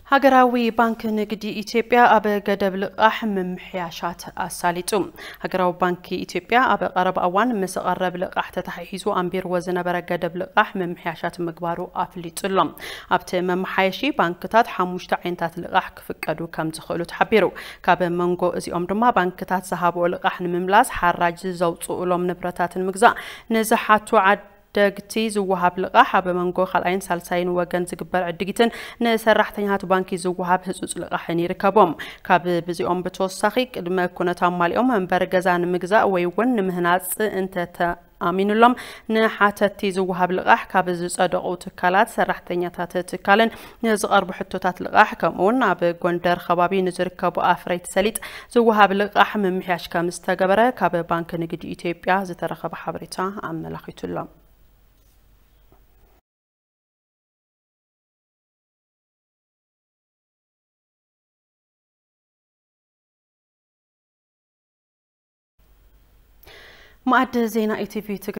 ሃገራዊ ባንክ ንግዲ ኢትዮጵያ ኣብ ገደብ ልቓሕ ምምሕያሻት ኣሳሊጡ። ሃገራዊ ባንክ ኢትዮጵያ ኣብ ቀረባ እዋን ምስ ቐረብ ልቓሕ ተተሓሒዙ ኣንቢርዎ ዝነበረ ገደብ ልቓሕ ምምሕያሻት ምግባሩ ኣፍሊጡ ኣሎ። ኣብቲ መመሓየሺ ባንክታት ሓሙሽተ ዓይነታት ልቓሕ ክፍቀዱ ከም ዝኽእሉ ተሓቢሩ። ካብ መንጎ እዚኦም ድማ ባንክታት ዝሃብኦ ልቓሕ ንምምላስ ሓራጅ ዘውፅኡሎም ንብረታትን ምግዛእ ንዝሓቱ ዓድ ደግቲ ዝወሃብ ልቓሕ ኣብ መንጎ ካልኣይን ሳልሳይን ወገን ዝግበር ዕድጊትን ንሰራሕተኛታት ባንኪ ዝወሃብ ህጹጽ ልቓሕን ይርከቦም። ካብ ብዚኦም ብተወሳኺ ቅድመ ኩነት ኣማሊኦም መንበሪ ገዛ ንምግዛእ ወይ እውን ንምህናጽ እንተተኣሚኑሎም ንሓተቲ ዝወሃብ ልቓሕ ካብ ዝጸደቑ ትካላት ሰራሕተኛታት ትካልን ንዝቐርቡ ሕቶታት ልቓሕ ከምኡውን ኣብ ጎንደር ከባቢ ንዝርከቡ ኣፍረይቲ ሰሊጥ ዝወሃብ ልቓሕ ምምሕያሽ ከም ዝተገበረ ካብ ባንክ ንግዲ ኢትዮጵያ ዝተረኸበ ሓበሬታ ኣመላኺቱ ኣሎ። ማዕድ ዜና ኢቲቪ ትግራይ